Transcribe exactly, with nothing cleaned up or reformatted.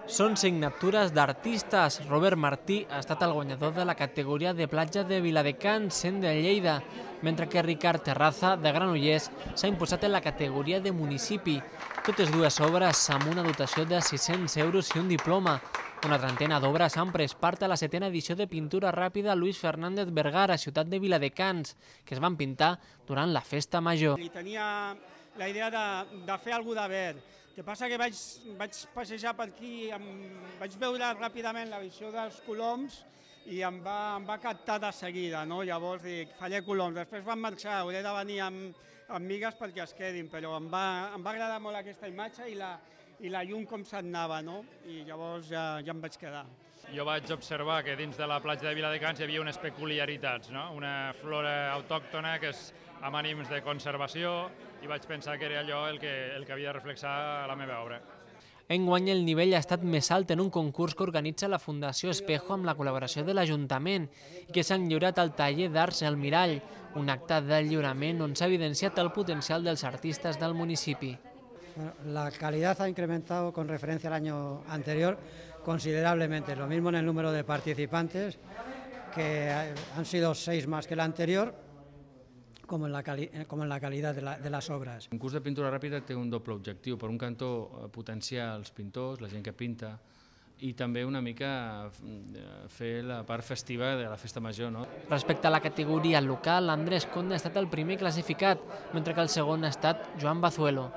Són signatures d'artistes. Robert Martí ha estat el guanyador de la categoria de platja de Viladecans, sent de Lleida, mentre que Ricard Terraza, de Granollers, s'ha imposat en la categoria de municipi. Totes dues obres amb una dotació de sis-cents euros i un diploma. Una trentena d'obres han pres part a la setena edició de pintura ràpida Luis Fernández Vergara, ciutat de Viladecans, que es van pintar durant la festa major. I tenia la idea de, de fer alguna de verd. El que passa que vaig, vaig passejar per aquí, em, vaig veure ràpidament la visió dels coloms i em va, em va captar de seguida, no? Llavors dic, faré coloms. Després van marxar, hauré de venir amb, amb migues perquè es quedin, però em va, em va agradar molt aquesta imatge i la, i la llum com s'anava, no? I llavors ja, ja em vaig quedar. Jo vaig observar que dins de la platja de Viladecans hi havia unes peculiaritats, no? Una flora autòctona que és amb ànims de conservació i vaig pensar que era allò el que, el que havia de reflexar la meva obra. Enguany el nivell ha estat més alt en un concurs que organitza la Fundació Espejo amb la col·laboració de l'Ajuntament i que s'han lliurat al taller d'Arts El Mirall, un acte de lliurament on s'ha evidenciat el potencial dels artistes del municipi. La calidad ha incrementado con referencia al año anterior considerablemente, lo mismo en el número de participantes, que han sido seis más que el anterior, com en la, cali com en la qualitat de, la, de les obres. Un curs de pintura ràpida té un doble objectiu. Per un cantó, potenciar els pintors, la gent que pinta, i també una mica fer la part festiva de la festa major, no? Respecte a la categoria local, Andrés Conde ha estat el primer classificat, mentre que el segon ha estat Joan Bazuelo.